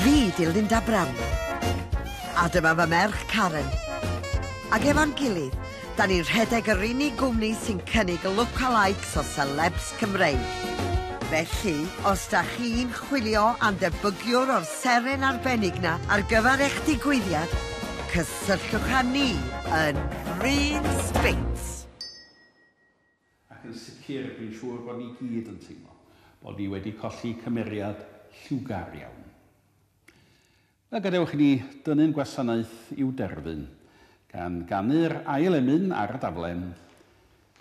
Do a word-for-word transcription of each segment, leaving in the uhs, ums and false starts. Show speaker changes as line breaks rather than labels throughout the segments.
Fi 'di Linda Brown. A dyma fy merch Karen. Ac efo'n gilydd, da ni'n rhedeg yr unig gwmni sy'n cynnig lookalikes o celebs Cymreig. Felly, os da chi'n chwilio am debygiwr o'r seren arbennig na ar gyfer eich digwyddiad, cysylltwch â ni yn Green Spits.
Ac yn sicr, dwi'n siŵr bod ni gyd yn teimlo bod ni wedi colli cymeriad lliwgar iawn. A gadewch i ni dynnu'n gwasanaeth i'w derfyn, gan ganu'r ail emyn ar y daflen.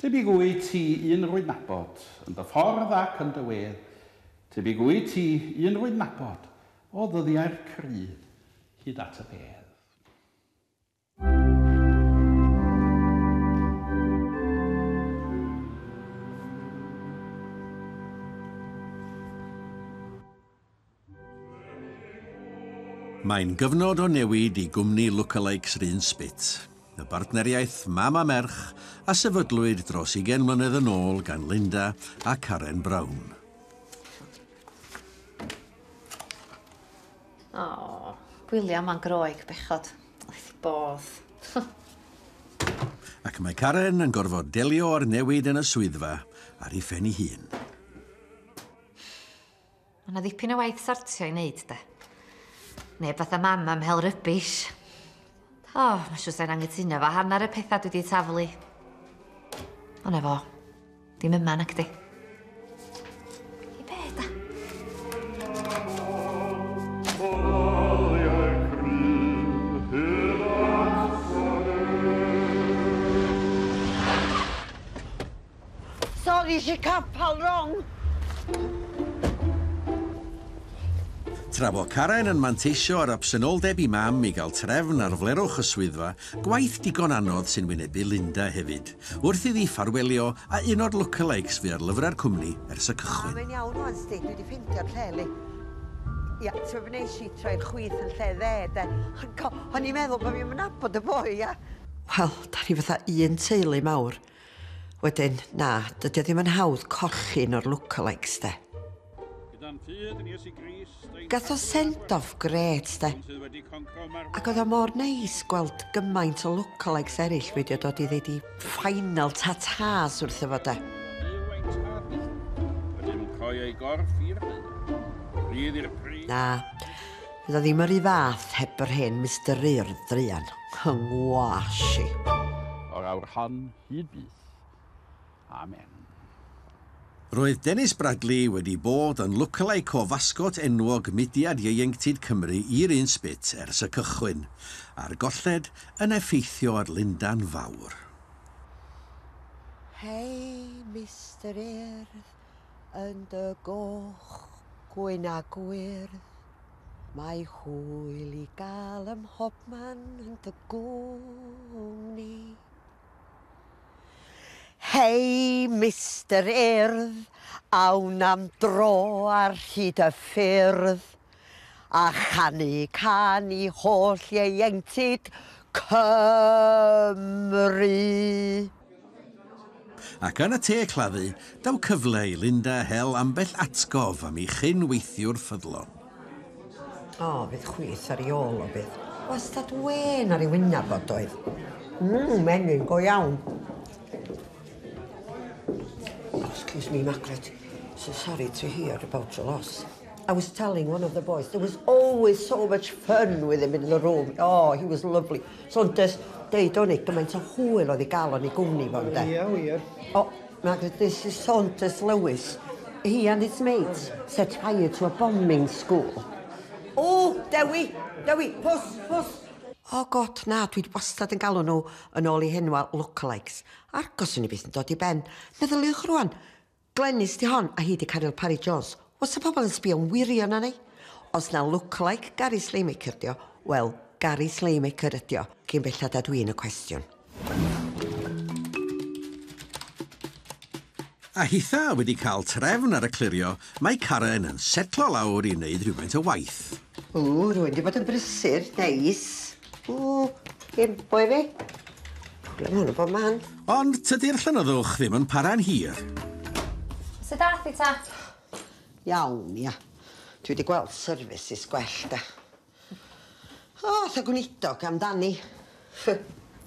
Tebyg wyt ti un rwy'n nabod, yn dy ffordd ac yn dy wedd. Tebyg wyt ti un rwy'n nabod, o ddyddiau'r crydd hyd at y bedd.
Mae'n gyfnod o newid i gwmni lookalikes Run Spit, y bartneriaeth mam a merch a sefydlwyd dros ugain mlynedd yn ôl gan Linda a Karen Brown.
O, William a'n Groeg, bechod. Wrth bodd.
Ac mae Karen yn gorfod delio â'r newid yn y swyddfa ar ei phen ei hun.
Mae yna ddipyn o waith sortio i wneud, de. Neb fatha mam am hel rybish. O, oh, mae'n siŵr sa'n anghytuno fo hanner y pethau dwi wedi taflu. Ond efo, dim yma nac di. I be, da?
Sorry, si capal wrong.
Tra bo Karen yn manteisio ar absenoldeb i mam i gael trefn ar flerwch y swyddfa, gwaith digon anodd sy'n wynebu Linda hefyd, wrth iddi ffarwelio a un o'r lookalikes fu ar lyfrau'r cwmni ers y cychwyn.
Mae'n iawn wan, sti, dwi wedi ffeindio'r lle, li. Ia, ti'n fe wnes i troi'r chwith yn lle dde, de. O'n i'n meddwl bod fi'n nabod y boi, ia. Wel, da ni fatha un teulu mawr. Wedyn, na, dydy o ddim yn hawdd colli un o'r lookalikes, de. Gath o send-off grêt, de. Ac oedd o mor neis gweld gymaint o lookalikes eraill wedi dod i ddeud i final ta-tas wrtho fo, de. Na, fydd o ddim yr un fath heb yr hen Mister Urdd druan. Yng ngwas i.
O'r awr hon hyd byth. Amen.
Roedd Dennis Bradley wedi bod yn lookalike o fasgot enwog mudiad ieuenctid Cymru i'r Un Spit ers y cychwyn, a'r golled yn effeithio ar Linda'n fawr.
Hei, Mister Urdd, yn dy goch, gwyn a gwyrdd, mae hwyl i gael ym mhobman yn dy gwmni. Hei, Mister Urdd, awn am dro ar hyd y ffyrdd, a chanu canu holl ieuenctid Cymru.
Ac yn y te claddu, daw cyfle i Linda hel ambell atgof am ei chyn-weithiwr ffyddlon.
O, fydd chwith ar ei ôl o bydd. Wastad wên ar ei wyneb o doedd. Mmm, menyn go iawn. Oh, excuse me, Margaret. So sorry to hear about your loss. I was telling one of the boys, there was always so much fun with him in the room. Oh, he was lovely. So, des, deud o'n i, gymaint o hwyl oedd i gael o'n i gwmni fo, ynde?
Ie, wir.
Oh, Margaret, this is Saunders Lewis. He and his mates set fire to a bombing school. Oh, Dewi, Dewi, pws, pws. Oh, God, na, dwi wastad yn galw nhw yn ôl i henwa lookalikes. Argos o'n i byth yn dod i ben. Meddyliwch rwan, Glenys di hon, a hi di Caryl Parry Jones. Oes y pobl yn sbio'n wirion arni? Os na lookalike Gary Slaymaker dio, wel, Gary Slaymaker ydi o, cyn bellad a dwi'n y cwestiwn.
A hitha wedi cael trefn ar y clirio, mae Karen yn setlo lawr i wneud rhywfaint o waith.
O, rwy'n di bod yn brysur, neis. O, dim boi fi. Problem hwn o bob man.
Ond tydi'r llenyddwch ddim yn para'n hir.
Sut ath i ta?
Iawn, ia. Dwi wedi gweld services gwell, da. O, tha gweinidog amdani.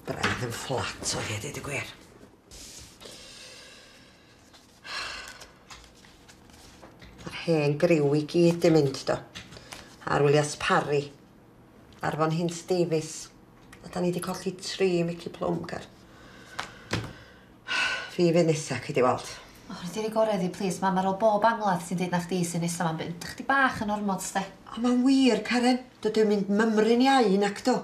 Braidd yn fflat o hi, deud y gwir. Mae'r hen griw i gyd di mynd, do. Ar Williams Parry, Arfon Hint Davies. A da ni di colli tri Mickey Plum, car. Fi fydd nesa, cei di weld.
O, oh, rydw i'n gorau di, plis, mam, ar ôl bob angladd sy'n deud na chdi sy'n nesa, ma'n bynd chdi bach yn ormod, ste.
O, mae'n wir, Karen. Dydw i'n mynd mymryn iau nac do.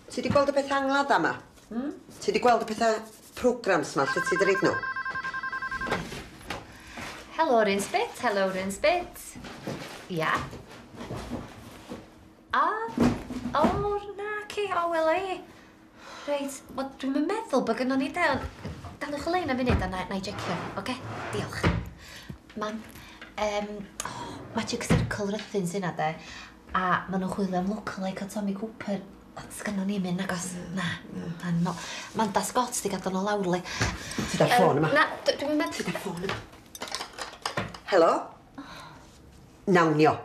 Ti di gweld y peth angladd yma? Mm? Ti di gweld y pethau programs ma, lle ti di reid nhw?
Helo, Rinsbit. Helo, Rinsbit. Ia. A, o, na, ci, o, wela i. Reit, wel, dwi'm yn meddwl bod gynnon ni de, ond daliwch y lein am funud a na, na i jecio, oce? Diolch. Mam, um, oh, Magic Circle Rhythun sy'n de, a maen nhw'n chwilio am lookalike o Tommy Cooper. Ond sgynnon ni'm un, nagos? Na, na, no. Manda Scott di gadael nhw lawr, le.
Ti da'r ffôn yma?
Na, dwi'm yn meddwl.
Ti da'r ffôn yma? Helo? Nawnio.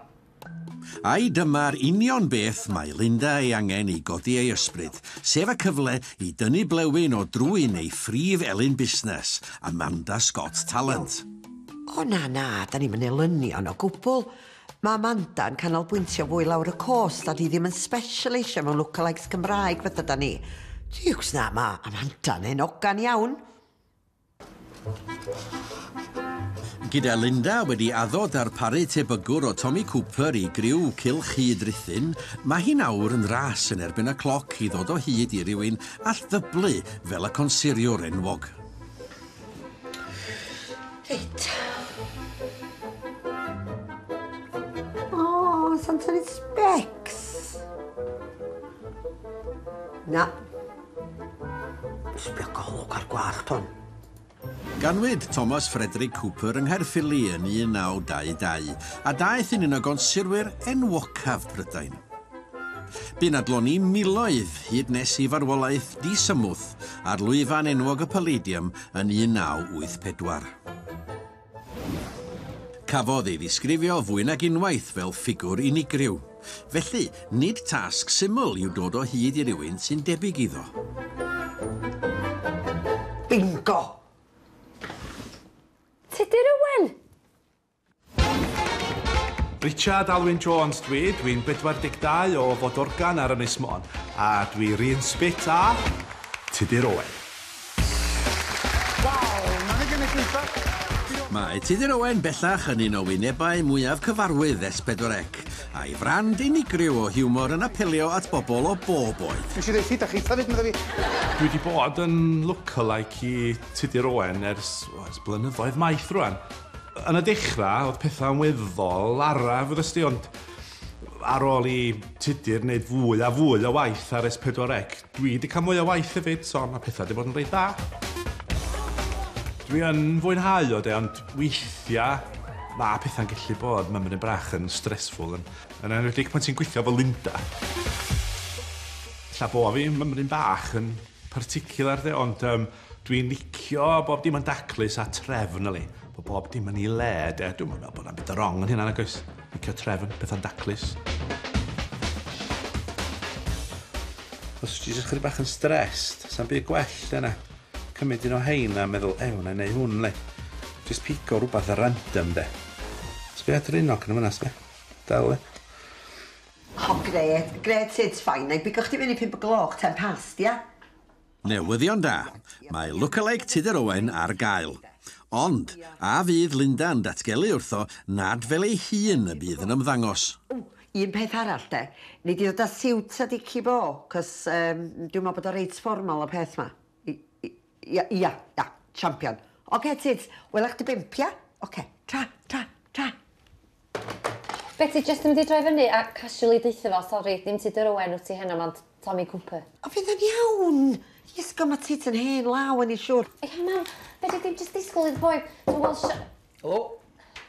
Ai dyma'r union beth mae Linda ei angen i godi ei ysbryd, sef y cyfle i dynnu blewyn o drwyn ei phrif elyn busnes, Amanda Scott Talent.
O na, na, da ni'm yn elynion o gwbl. Mae Amanda'n canolbwyntio fwy lawr y coast, a di ddim yn specialisio mewn lookalikes Cymraeg fatha da ni. Diwcs na, mae Amanda'n enogan iawn.
Gyda Linda wedi addo darparu tebygwr o Tommy Cooper i griw Cylch Hyd Rhuthun, mae hi nawr yn ras yn erbyn y cloc i ddod o hyd i rywun all ddyblu fel y consuriwr enwog.
Reit. O, sa'n tynnu specs. Na. Sbio golwg ar gwallt hwn.
Ganwyd Thomas Frederick Cooper yng Nghaerffili yn un naw dau dau, a daeth yn un o gonsurwyr enwocaf Prydain. Bu'n adloni miloedd hyd nes i farwolaeth disymwth ar lwyfan enwog y Palladium yn un naw wyth pedwar. Cafodd ei ddisgrifio fwy nag unwaith fel ffigwr unigryw. Felly, nid tasg syml yw dod o hyd i rywun sy'n debyg iddo.
Bingo!
Tudur Owen!
Richard Alwyn Jones dwi, dwi'n bedwar deg dau o Fodorgan ar Ynys Môn, a dwi'n un sbit a Tudur Owen.
Waw, mae'n gynulleidfa!
Mae Tudur Owen bellach yn un o wynebau mwyaf cyfarwydd S pedwar C, a'i frand unigryw o hiwmor yn apelio at bobl o bob oed.
Dwi eisiau dweud, da chi hefyd, medda fi.
Dwi wedi bod yn lookalike i Tudur Owen ers, o, ers blynyddoedd maith rwan. Yn y dechrau, oedd pethau'n weddol araf, wrth ysdi, ond ar ôl i Tudur wneud fwy a fwy o waith ar S pedwar C, dwi wedi cael mwy o waith hefyd, so mae pethau wedi bod yn reit dda. Dwi yn fwynhau o de, ond weithiau mae pethau'n gallu bod mymryn bach yn stressful, yn, yn enwedig pan ti'n gweithio efo Linda. Ella bo fi mymryn bach yn particular de, ond um, dwi'n licio bob dim yn daclus a trefn yli. Bod bob dim yn ei le de, dwi'n meddwl bod na'm byd wrong yn hynna nag oes. Licio trefn, pethau'n daclus. Os ti jyst chydig bach yn stressed, sa'n byd gwell yna. Cymryd un o hein a meddwl, ew, na i neud hwn, le. Just pigo rhywbeth random, de. Sbia drynog yn yma, sbia. Dal, le.
O, gret, gret, it's fine. Na i bigo chdi fyny pump o gloch, ten past, ia?
Newyddion da. Mae lookalike Tudur Owen ar gael. Ond, a fydd Linda'n datgelu wrtho nad fel ei hun y bydd yn ymddangos.
O, un peth arall, de. Nei di ddod â siwt a dici bo, cos um, dwi'n meddwl bod o reit formal y peth ma. Ia, ia, ia, champion. Oce, Tuds, wela chdi bump, ia? Oce, tra, tra, tra.
Betty, jyst yn mynd i droi fyny a casually deutha fo, sori, dim Tudur Owen wyt ti heno, ond Tommy Cooper.
O, fydd o'n iawn. Iesgo, mae Tuds yn hen law yn ei siŵr.
Ia, mam, fedri dim jyst disgwyl i'r boi. Dwi'n gweld si...
Helo.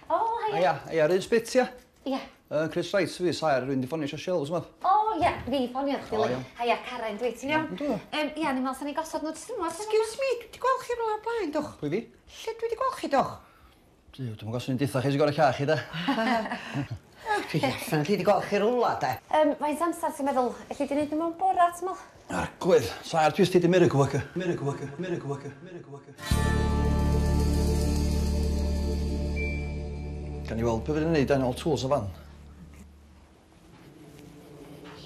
O, haia.
Haia, haia, run sbit, ia?
Ia.
Uh, Chris Wright, fi, saer, rwy'n di ffonio eisiau shelves, yma.
O, ia, fi ffonio chdi.
O, iawn.
Haia, Karen, dwi, ti'n iawn?
Yndw.
Um, ia, ni'n meddwl sa'n ni gosod nhw jyst yma.
Excuse me, dwi wedi gweld chi rhywle o'r blaen, dwch.
Pwy fi?
Lle dwi wedi gweld chi, dwch?
Dwi'n gwybod swn i'n deutha chi sy'n gorau llach chi, de.
Dwi definitely di gweld chi rwla, de.
Um, Faint amser ti'n meddwl? Elli di wneud nhw mewn bora, ti'n meddwl?
Arglwydd, sa'r dwi ystod i miracle worker. Miracle worker, miracle worker, miracle worker. Gan i weld be fydd yn neud yn all tools o fan.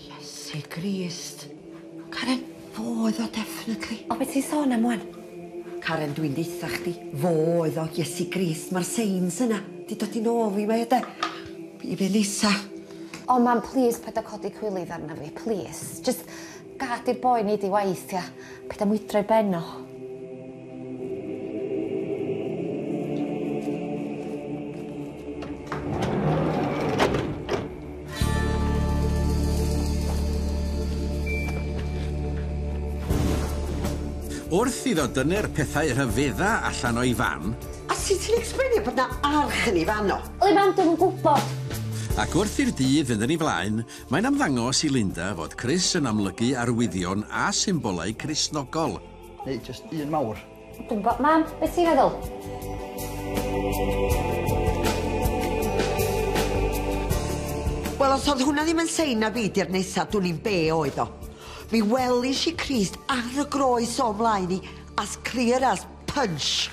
Iesu Grist. Karen, fo oedd o, definitely.
O, beth ti'n sôn am wan?
Karen, dwi'n deutha chdi. Fo oedd o, Iesu Grist, mae'r signs yna. Di dod i nôl fi, mae e, de. I fe nesa.
O, mam, please, paid â codi cwilydd arna fi, please. Just gad i'r boi neud ei waith, ia. Paid â mwydro i ben o.
Wrth iddo dynnu'r pethau rhyfedda allan o'i fan...
A sut ti'n explainio bod na arch yn ei fan o?
Oli, mam, dwi'm yn gwybod.
Ac wrth i'r dydd fynd yn ei flaen, mae'n ymddangos i Linda fod Chris yn amlygu arwyddion a symbolau Cristnogol.
Neu, just un mawr.
Dwi'n gwybod, mam, beth ti'n feddwl?
Wel, os oedd hwnna ddim yn sein na fi di'r nesa, dwi'n i'n be oedd o. Mi welis i Crist ar y groes o mlaen i, as clear as punch.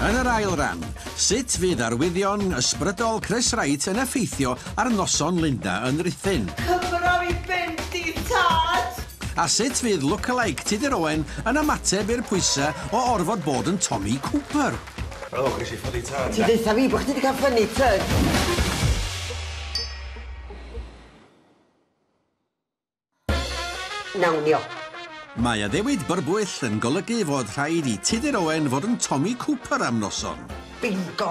Yn yr ail ran, sut fydd arwyddion ysbrydol Chris Wright yn effeithio ar noson Linda yn Rhuthun?
Cymra fi fynd i tad!
A sut fydd lookalike Tudur Owen yn ymateb i'r pwysau o orfod bod yn Tommy Cooper?
O, ges i funny turn.
Ti'n deutha fi bod chdi wedi cael funny turn. Nawn ni o.
Mae addewid byrbwyll yn golygu fod rhaid i Tudur Owen fod yn Tommy Cooper am noson.
Bingo!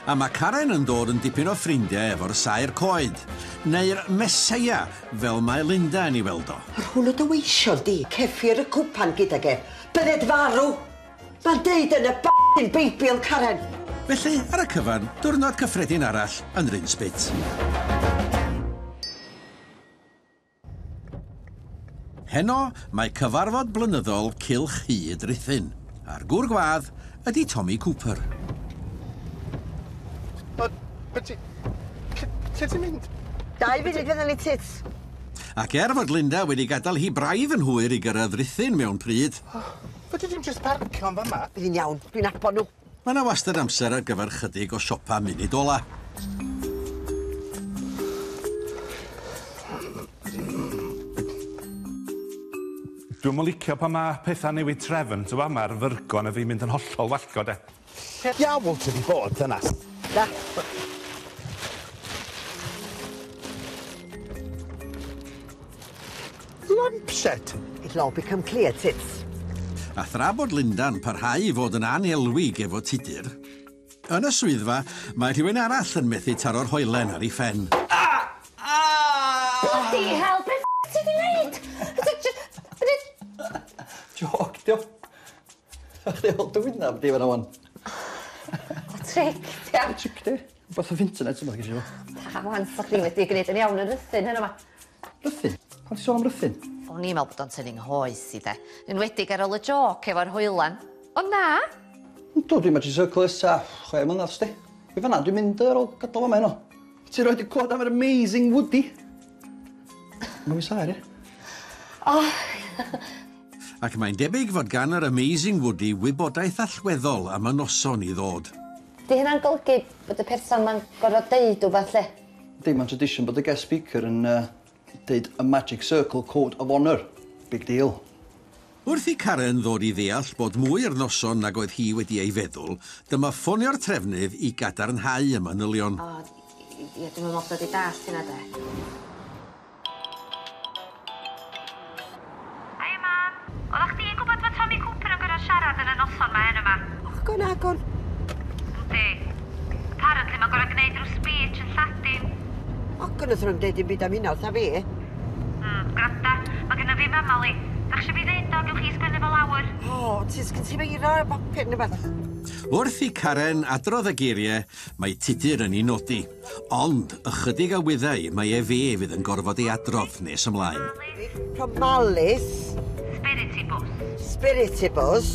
A mae Karen yn dod yn dipyn o ffrindiau efo'r saer coed, neu'r Meseia, fel mae Linda yn ei weld o.
Yr hwn o dy weision di, ceffir y cwpan gydag e, bydded farw. Mae'n deud yn y b***ing Beibl, Karen.
Felly, ar y cyfan, diwrnod cyffredin arall yn Rhyn Spit. Heno, mae cyfarfod blynyddol Cylch Hud Rhuthun, a'r gŵr gwadd ydy Tommy Cooper.
O, be ti... Lle ti'n mynd?
Dau funud fydden ni tits.
Ac er fod Linda wedi gadael hi braidd yn hwyr i gyrraedd Rhuthun mewn pryd...
Fyddi di'm jyst parcio yn fama?
Bydd hi'n iawn, dwi'n nabod nhw.
Mae yna wastad amser ar gyfer chydig o siopa munud ola.
Dwi'm yn licio pan mae pethau newid trefn, ti'n gwbod, mae'r fyrgon a fi'n mynd yn hollol wallgo, de.
Lle diawl ti 'di bod, dynas?
Da.
Lampset?
It'll all become clear, tits.
A thra bod Linda'n parhau i fod yn anelwig efo Tudur, yn y swyddfa mae rhywun arall yn methu taro'r hoelen ar ei phen.
Ah! Ah!
Bloody hell, be f*** ti 'di wneud?
Joc, dio. Sa chdi weld dy wynaf di fan wan.
O, tric, dio.
Tric, di. Wbath off internet, yma, ges i fo.
Da, wan, sa chdi wedi gwneud yn iawn yn Rhuthun heno 'ma.
Rhuthun? Pam ti sôn am Rhuthun?
O'n i'n meddwl bod o'n tynnu nghoes i, de. Enwedig ar ôl y joc efo'r hoelan. O na?
Yndw, dwi'n Magic Circle ers tua chwe mlynedd, sdi. I fan'na, dwi'n mynd ar ôl gadael fama heno. Ti roed i clywed am yr Amazing Woody? Mae'n fi saer, ie?
O!
Ac mae'n debyg fod gan yr Amazing Woody wybodaeth allweddol am y noson i ddod.
Di hynna'n golygu bod y person ma'n gorfod deud wbath, lle?
Yndi, mae'n tradition bod y guest speaker yn uh, deud y Magic Circle Code of Honour. Big deal.
Wrth i Karen ddod i ddeall bod mwy i'r noson nag oedd hi wedi ei feddwl, dyma ffonio'r trefnydd i gadarnhau y manylion.
O, ie, dwi'n meddwl bod i dallt hynna, de. Hi, mam. Oeddach chdi'n gwybod fod Tommy Cooper yn gorfod siarad yn y noson ma heno 'ma?
Agon, agon.
Yndi. Apparently mae'n gorfod gwneud rhyw speech yn Lladin.
Ogon oedd nhw'n deud dim byd am hynna wrtha fi.
Mm, gwranda, mae gynna fi mammal i. Dach eisiau fi ddeud o, gewch chi sgwennu fo lawr.
O, ti sgyn ti feiro ar bapur neu beth?
Wrth i Karen adrodd y geiriau, mae Tudur yn ei nodi. Ond ychydig a wyddai mae e fe fydd yn gorfod ei adrodd nes ymlaen.
Promalis.
Spiritibus.
Spiritibus.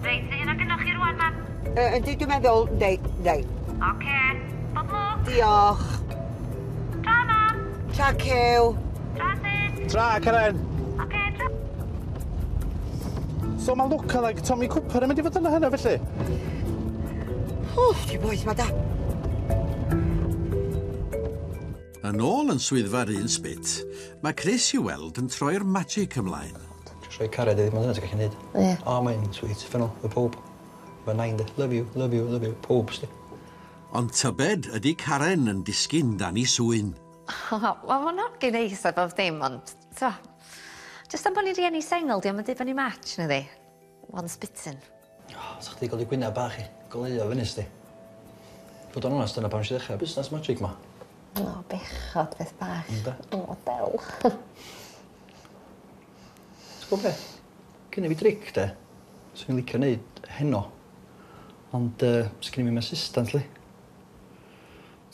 Reit, hynna gynnoch chi rwan, mam.
Uh, yndi, dwi'n meddwl, yndi, yndi.
Oce, bob lwc.
Diolch.
Tra, mam.
Tra, Cew.
Tra, Sid.
Tra, Karen.
Oce, tra.
So mae lookalike Tommy Cooper yn mynd i fod yna heno, felly?
O, di boeth ma da.
Yn ôl yn swyddfa'r un sbit, mae Chris i'w weld yn troi'r magic ymlaen.
Jyst rhoi cariad iddi, mae'n dyna ti'n gallu neud.
Ie.
O, mae'n sweet, ffynol, y pob. Mae nain de, love you, love you, love you, pob, sti.
Ond tybed ydy Karen yn disgyn dan i swyn.
Wel, mae'n hogyn neis a bob dim, ond, so, jyst am bod ni'n rieni sengl, di o'm yn deud bod ni'n match, nadi? Once bitten.
O, sa chdi gael ei gwyneb bach i, goleuo fyny, sti. Fod o'n onest, dyna pam si ddechrau busnes magic ma.
O, bechod, beth bach.
Ynde?
O, del.
Ti'n gwybod be? Gynna fi dric, de. Swn i'n licio neud heno. Ond uh, sgyn i'm assistant, li.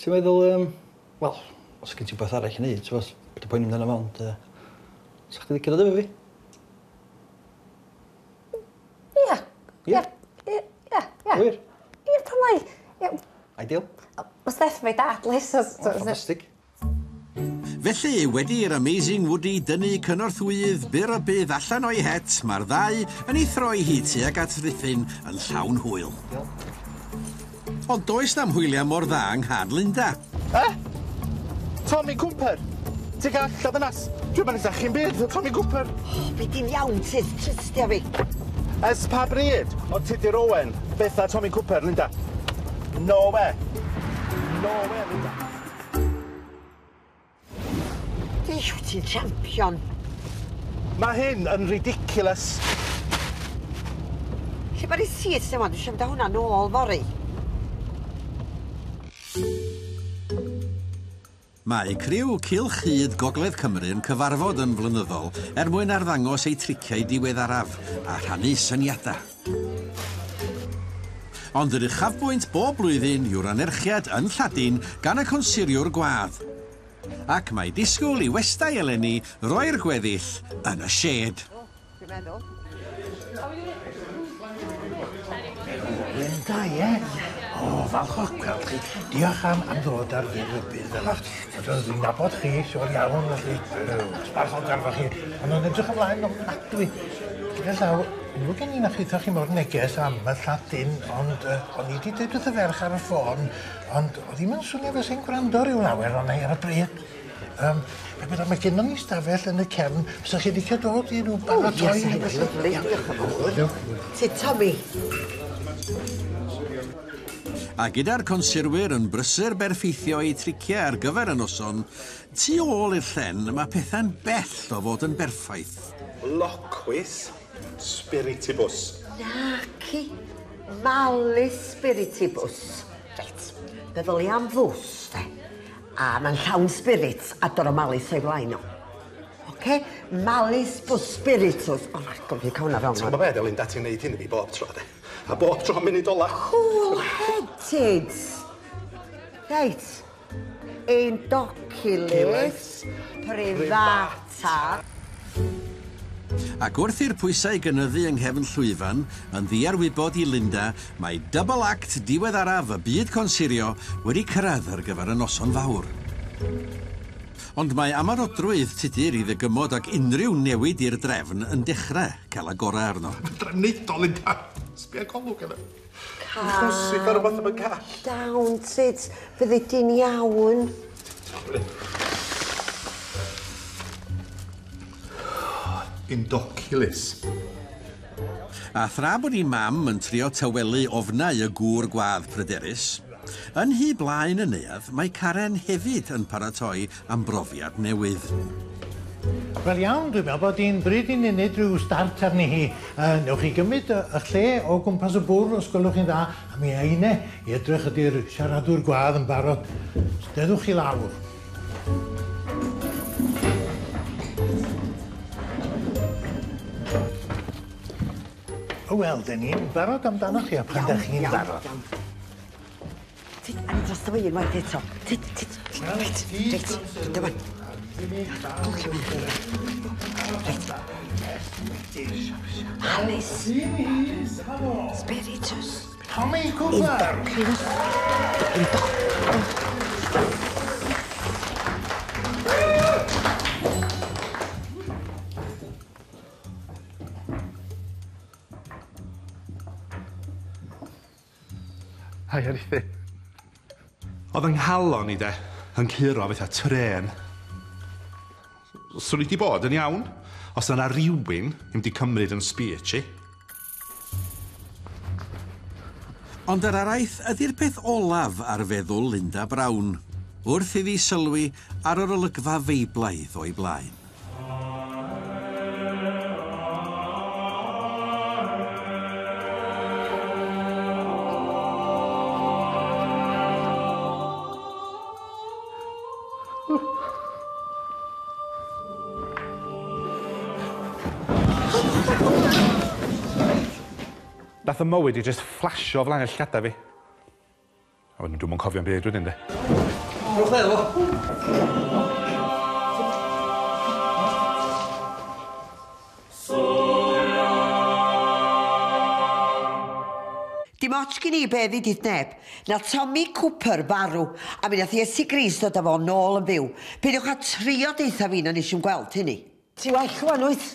Ti'n meddwl, um, wel, os gen ti beth arall i neud, ti'n meddwl, beth y poeni amdano fo, ond uh, sa chdi licio dod efo fi?
Ia.
Ie?
Ia, ia, ia.
Wir?
Ia, pam lai. Ia.
Ideal.
Mae Steff efo'i dad, li, so...
Oh, ffantastig.
Felly, wedi i'r Amazing Woody dynnu cynorthwyydd byr o bydd allan o'i het, mae'r ddau yn ei throi hi tuag at Ruthun yn llawn hwyl. Ond does na'm hwyliau mor dda yng Nghan Linda.
Eh? Tommy Cooper? Ti'n gael allan ddynas? Dwi'n mynd i chi'n byd, Tommy Cooper.
O, be di'n iawn, tis, trystia fi.
Ers pa bryd o Tudur Owen betha Tommy Cooper, Linda? No way. No way, Linda.
Duw, ti'n champion.
Mae hyn yn ridiculous.
Lle mae'r receipts yma? Dwi eisiau mynd â hwnna nôl fory.
Mae criw Cylch Hyd Gogledd Cymru yn cyfarfod yn flynyddol er mwyn arddangos eu triciau diweddaraf a rhannu syniadau. Ond yr uchafbwynt bob blwyddyn yw'r anerchiad yn Lladin gan y consuriwr gwadd. Ac mae disgwyl i westai eleni roi'r gweddill yn y shed.
Dwi'n meddwl.
Linda, ie? O, falch o'ch gweld chi. Diolch am, am ddod ar fyr rybudd fel yna. Dwi'n nabod chi, siŵr iawn, felly. Sbarch o'n garfo chi. Ond o'n edrych ymlaen ofnadwy. Gyda llaw, nhw gen i na chitho chi mor neges am y Lladin, ond uh, o'n i wedi dweud wrth y ferch ar y ffôn, ond oedd hi'm yn swnio fel sy'n gwrando ryw lawer ond ar y bryd. Um, be mae gennon ni stafell yn y cefn, fysa chi licio dod i nhw baratoi?
O, yes, lyfli, diolch yn fawr. Ti, Tommy.
A gyda'r consurwyr yn brysur berffeithio eu triciau ar gyfer y noson, tu ôl i'r llen mae pethau'n bell o fod yn berffaith.
Loquis spiritibus.
Naci. Malus spiritibus. Reit, meddwl i am fws, de. A mae'n llawn spirits a dod o malus o'i flaen o. Oce? Malus bus spiritus. O, my God, fi cael hwnna fewn.
Ti'n gwybod beth, Linda, ti'n neud hyn i fi bob tro, de. A bob tro munud ola.
Cool-headed. Reit. Indoculis privata.
Ac wrth i'r pwysau gynyddu yng nghefn llwyfan, yn ddiarwybod i Linda, mae double act diweddaraf y byd consurio wedi cyrraedd ar gyfer y noson fawr. Ond mae amarodrwydd Tudur i ddygymod ac unrhyw newid i'r drefn yn dechrau cael y gorau arno.
Drefnidol, Linda. Sbia golwg yna. Chwsig ar rhywbeth am y call.
Down, Tud. Fyddi di'n iawn.
Indoculus.
A thra bod ei mam yn trio tawelu ofnau y gŵr gwadd pryderus, yn hy blaen y neuadd, mae Karen hefyd yn paratoi am brofiad newydd.
Wel iawn, dwi'n meddwl bod hi'n bryd i ni wneud rhyw start arni hi. Uh, newch chi gymryd y, y lle o gwmpas y bwrdd os gwelwch chi'n dda, a mi eine i edrych ydy'r siaradwr gwadd yn barod. Steddwch chi lawr. Wel, dyn ni'n barod amdano chi, a pan dych chi'n barod.
Tyd, a ni dros y un waith eto. Tyd, tyd, reit, reit, dyma. Reit. Alice. Spiritus.
Tommy Cooper!
Un, do.
Hai, Arithin. Oedd yng nghalon i de, yn curo fatha trên. Swn i di bod yn iawn, os yna rywun ddim di cymryd yn speech i.
Ond yr araith ydy'r peth olaf ar feddwl Linda Brown, wrth iddi sylwi ar yr olygfa feiblaidd o'i blaen.
Nath y mywyd i just flasio flaen y llada fi. A wedyn dwi'm yn cofio'n byd wedyn, de.
Rwch le, fo.
Dim ots gen i be ddeudith neb. Na Tommy Cooper farw, a mi nath Iesu Grist dod â fo nôl yn fyw. Peidiwch â trio deutha fi na nes i'm gweld hynny. Ti well rŵan, wyt?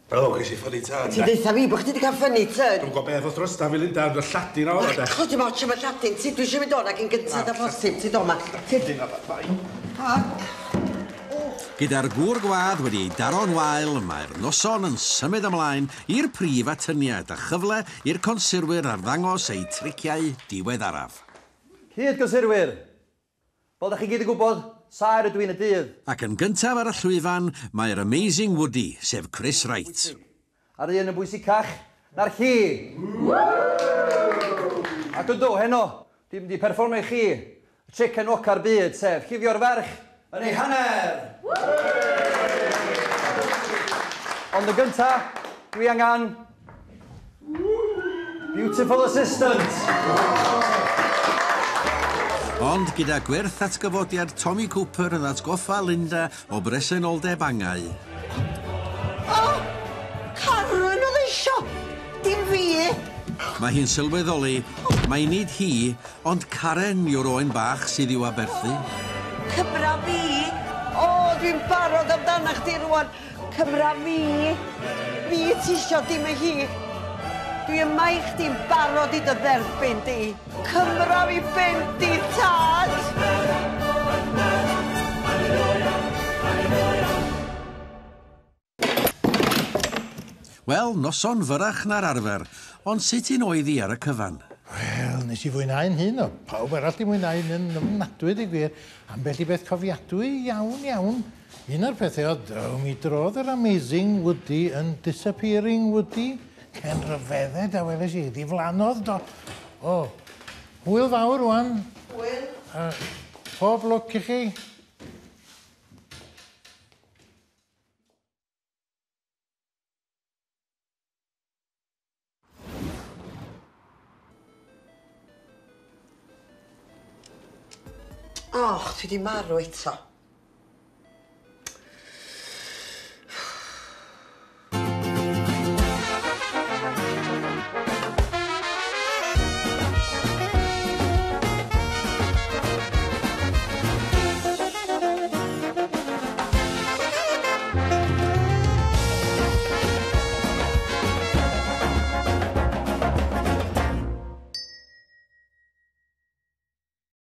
O, ges i funny turn.
Ti'n deutha fi bod chdi wedi cael funny turn?
Dwi'm gwybod beth oedd drosta fi, Linda, ond y Lladin o, de.
O, dim ots am y Lladin. Ti, dwi eisiau mynd o'n ac yn gyntaf â phosib. Ti do ma.
Lladin a bai.
Gyda'r gŵr gwadd wedi ei daro'n wael, mae'r noson yn symud ymlaen i'r prif atyniad a chyfle i'r consurwyr arddangos eu triciau diweddaraf.
Cyd consurwyr, fel da chi gyd yn gwybod, saer ydw i'n y dydd.
Ac yn gyntaf ar y llwyfan, mae'r Amazing Woody, sef Chris Wright.
A'r un yn bwysicach na'r chi. Ac yndw, heno, dwi'n mynd i perfformio i chi y tric enwoca'r byd, sef llifio'r ferch yn ei hanner. Ond yn gyntaf, dwi angen beautiful assistant.
Ond gyda gwerth atgyfodiad Tommy Cooper yn atgoffa Linda o bresenoldeb angau.
O! Karen oedd eisio! Dim fi!
Mae hi'n sylweddoli, mae nid hi, ond Karen yw'r oen bach sydd i'w aberthu.
Cymra fi! O, dwi'n barod amdana chdi rŵan. Cymra fi! Fi ti isio, dim y hi. Dwi yma i chdi'n barod i dy dderbyn di. Cymra fi ben di, tad!
Wel, noson fyrach na'r arfer, ond sut un oedd hi ar y cyfan?
Wel, nes i fwynhau'n hun o. Pawb arall di mwynhau'n yn ofnadwy, di gwir. Ambell i beth cofiadwy iawn, iawn. Un o'r pethau oedd, o, mi drodd yr Amazing Woody yn Disappearing Woody. Cen ryfedded a weles i, ddiflannodd do. O, hwyl fawr rwan.
Hwyl.
Uh, pob lwc i chi.
Och, dwi di marw eto.